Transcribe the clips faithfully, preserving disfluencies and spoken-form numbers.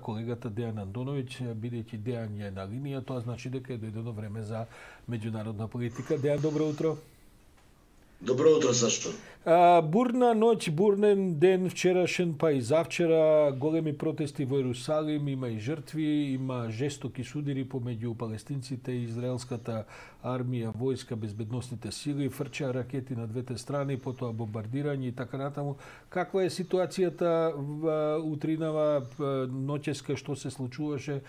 колегата Дејан Андоновиќ, бидејќи Дејан е на линија, тоа значи дека е дојдено време за меѓународна политика. Дејан, добро утро. Добро утро, Сашо. А, бурна ноќ, бурнен ден вчерашен, па и завчера, големи протести во Ерусалим, има и жртви, има жестоки судири помеѓу палестинците и израелската армија, војска, безбедносните сили, фрчаа ракети на двете страни, потоа бомбардирање и така натаму. Каква е ситуацијата утринава, ноќеска, што се случуваше?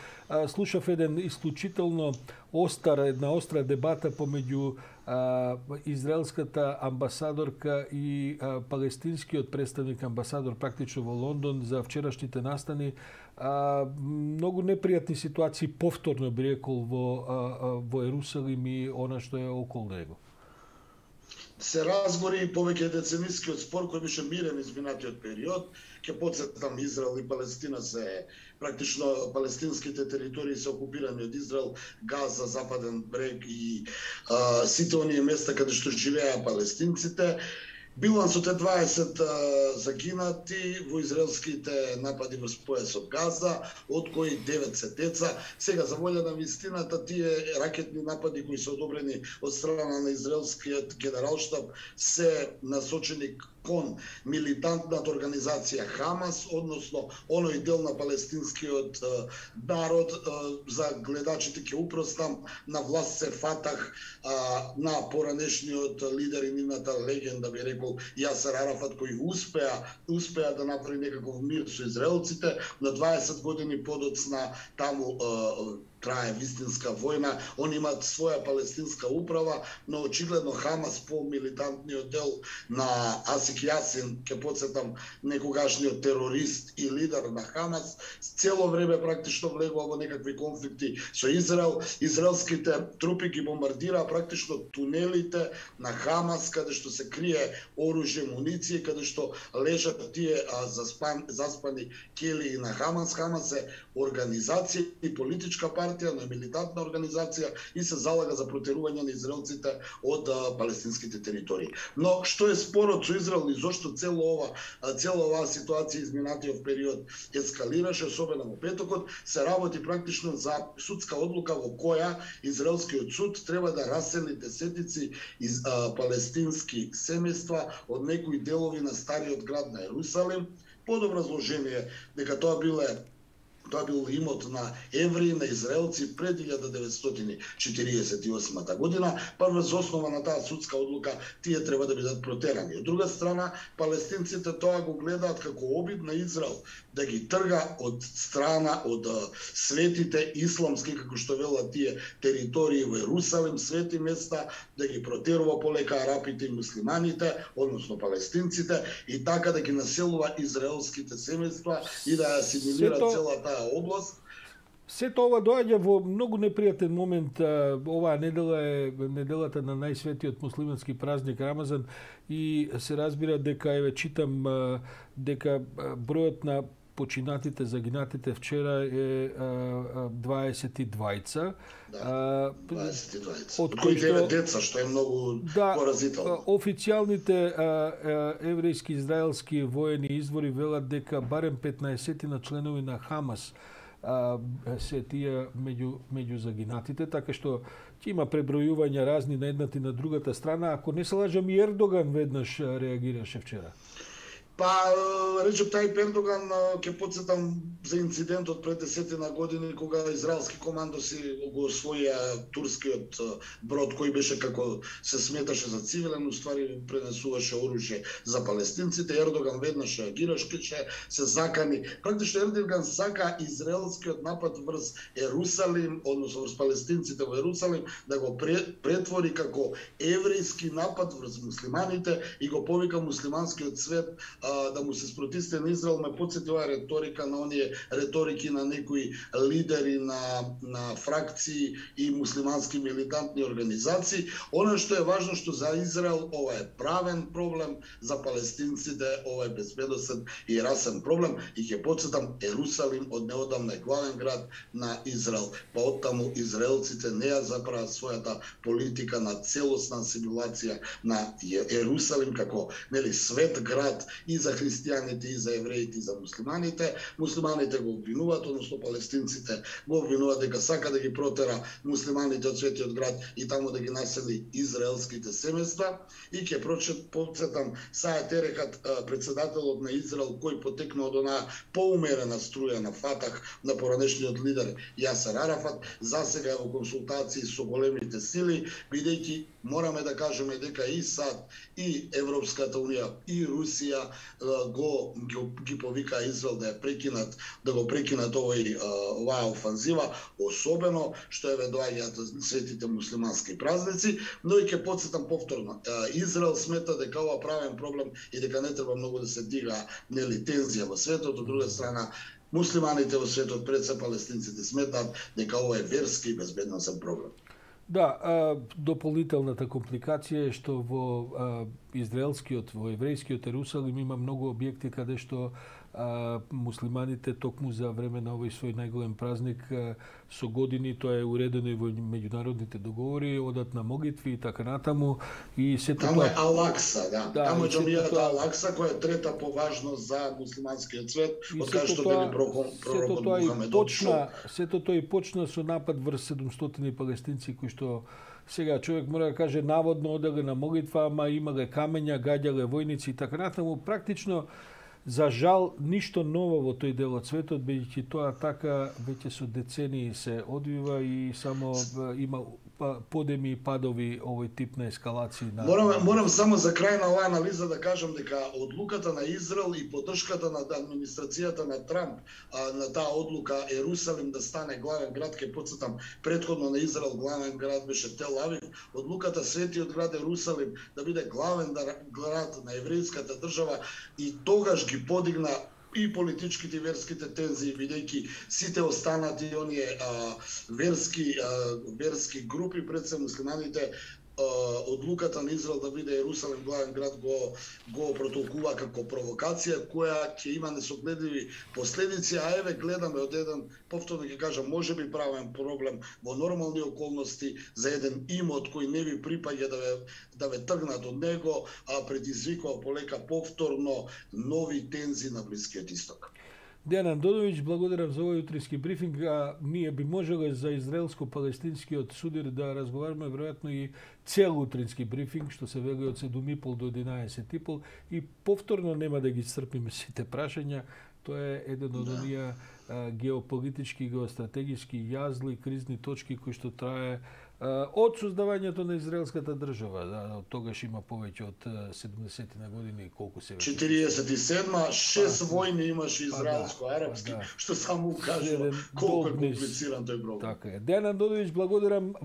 Слушав еден исклучително остар, една остра дебата помеѓу а, израелската амбасадорка и а, палестинскиот представник амбасадор практично во Лондон за вчерашните настани. А, многу непријатни ситуации повторно би рекол во, а, а, во Ерусалим и она што е околу него. Се разгори повеќе деценискиот спор кој беше мирен изминатиот период. Ке потсетам, Израел и Палестина се практично палестинските територии се окупирани од Израел, Газа, Западен брег и а, сите оние места каде што живеа палестинците. Билансот е дваесет загинати во израелските напади врз појасот Газа, од кои девет се деца. Сега, за волја на вистината, тие ракетни напади кои се одобрени од страна на израелскиот генералштаб се насочени кон милитантната организација Хамас, односно оној дел на палестинскиот е, народ. Е, за гледачите ќе упростам, на власт се Фатах, е, на поранешниот лидер и нивната легенда, би рекол, Јасер Арафат, кој успеа, успеа да направи некаков мир со израелците. На дваесет години подоцна таму е, трае вистинска војна. Они имаат своја палестинска управа, но очигледно Хамас, по милитантниот дел на Асик Јасин, ке подсетам, некогашниот терорист и лидер на Хамас, цело време практично влегува во некакви конфликти со Израел. Израелските трупи ги бомбардираа практично тунелите на Хамас, каде што се крие оружје, муниција, каде што лежат тие а, заспан, заспани келии на Хамас. Хамас е организација и политичка партија, но милитантна организација и се залага за протерување на израелците од а, палестинските територии. Но што е спорот со Израел и зошто цело ова, цела оваа ситуација изминатиот период ескалираше, особено во петокот, се работи практично за судска одлука во која израелскиот суд треба да расели десетици из а, палестински семејства од некои делови на стариот град на Ерусалим, под образложение дека тоа биле Тоа бил имот на евреи, на израелци пред илјада деветстотини четириесет и осма година, па врз основа на таа судска одлука тие треба да бидат протерани. Од друга страна, палестинците тоа го гледаат како обид на Израел да ги трга од страна од светите исламски, како што велат тие, територии во Ерусалим, свети места, да ги протерува полека арапите и муслиманите, односно палестинците, и така да ги населува израелските семејства и да асимилира целата област. Сето ова доаѓа во многу непријатен момент. Оваа недела е неделата на најсветиот муслимански празник Рамазан и се разбира дека, еве читам, дека бројот на починатите, загинатите вчера е дваесет и двајца. Да, дваесет и двајца. Од кои девет деца, што е многу да, поразително. Официјалните еврејски израелски воени извори велат дека барем петнаесет на членови на Хамас а, се тие меѓу, меѓу загинатите, така што ќе има пребројувања разни на едната и на другата страна. Ако не се лажам, и Ердоган веднаш реагираше вчера. Па, Реджеп Тајип Ердоган, ќе потсетам за инцидентот пред десетина години, кога израелски командоси го освоија турскиот брод, кој беше, како се сметаше, за цивилен, уствари пренесуваше оружје за палестинците. Ердоган веднаш реагираше, се закани. Практично Ердоган сака израелскиот напад врз Ерусалим, односно врз палестинците во Ерусалим, да го претвори како еврејски напад врз муслиманите и го повика муслиманскиот свет да му се спротисти на Израел. Ме потсети оваа реторика на оние реторики на некои лидери на, на фракции и муслимански милитантни организации. Оно што е важно, што за Израел ова е правен проблем, за палестинците ова е безбедносен и расен проблем. И ќе потсетам, Ерусалим од неодамна е главен град на Израел. Па оттаму израелците не ја заправат својата политика на целосна асимилација на Ерусалим како, нели, свет град и за христијаните, и за евреите, и за муслиманите. Муслиманите го обвинуваат, односно палестинците го обвинуваат дека сака да ги протера муслиманите од Светиот град и таму да ги насели израелските семејства. И ќе процетам Саед Ерехат, председателот на Израел, кој потекна од онаа поумерена струја на Фатах, на поранешниот лидер Јасер Арафат, засега во консултации со големите сили, бидејќи мораме да кажеме дека и САД, и Европската унија, и Русија го ги повика Израел да ја прекинат, да го прекинат овој оваа офанзива, особено што еве доаѓаат светите муслимански празници, но и ќе потсетам повторно. Израел смета дека ова правен проблем и дека не треба многу да се дига нели тензија во светот. Од друга страна, муслиманите во светот, пред се палестинците, сметаат дека ова е верски и безбедносен проблем. Да, а, дополнителната компликација е што во а, израелскиот, во еврејскиот Ерусалим има многу објекти каде што а, муслиманите токму за време на овој свој најголем празник а, со години, тоа е уредено и во меѓународните договори, одат на молитви и така натаму, и сето таму е Ал-Акса, да. да таму е џамијата тоа... Ал-Акса, која е трета по важност за муслиманскиот свет, од кај што били пророкот Мухамед почна, сето тоа и почна со напад врз седумстотини палестинци кои што сега човек мора да каже наводно оделе на молитва, ама имале камења, гаѓале војници и така натаму. Практично, за жал, ништо ново во тој дел од светот, бидејќи тоа така веќе со децении се одвива и само има подеми и падови овој тип на ескалации. На... Морам, морам само за крај на оваа анализа да кажам дека одлуката на Израел и поддршката на администрацијата на Трамп а, на таа одлука Ерусалим да стане главен град, ке потсетам, предходно на Израел главен град беше Тел Авив, одлуката Светиот град Ерусалим да биде главен град на еврејската држава и тогаш ги подигна и политичките и верските тензии, бидејќи сите останати оние а, верски а, верски групи, пред се муслиманите, одлуката на Израел да биде Ерусалим главен град го го протолкува како провокација која ќе има несогледливи последици, а еве гледаме од еден, повторно ќе кажам, можеби правен проблем во нормални околности за еден имот кој не ви припаѓа да ве да ве тргнат од него, а предизвикува полека повторно нови тензии на Блискиот Исток. Дејан Андоновиќ, благодарам за овој утрински брифинг. А, ние би можеле за израелско-палестинскиот судир да разговараме веројатно и цел утрински брифинг, што се вели од седум и пол до единаесет и пол, и повторно нема да ги црпиме сите прашања. Тоа е еден од оние геополитички, геостратегиски јазли, кризни точки кои што трае од создавањето на израелската држава. Да, од тогаш има повеќе од седумдесет на години, колку се веќе? четириесет и седма, шест војни имаше израелско-арапски, што само укажува колку е комплициран тој проблем. Така е. Дејан Андоновиќ, благодарам.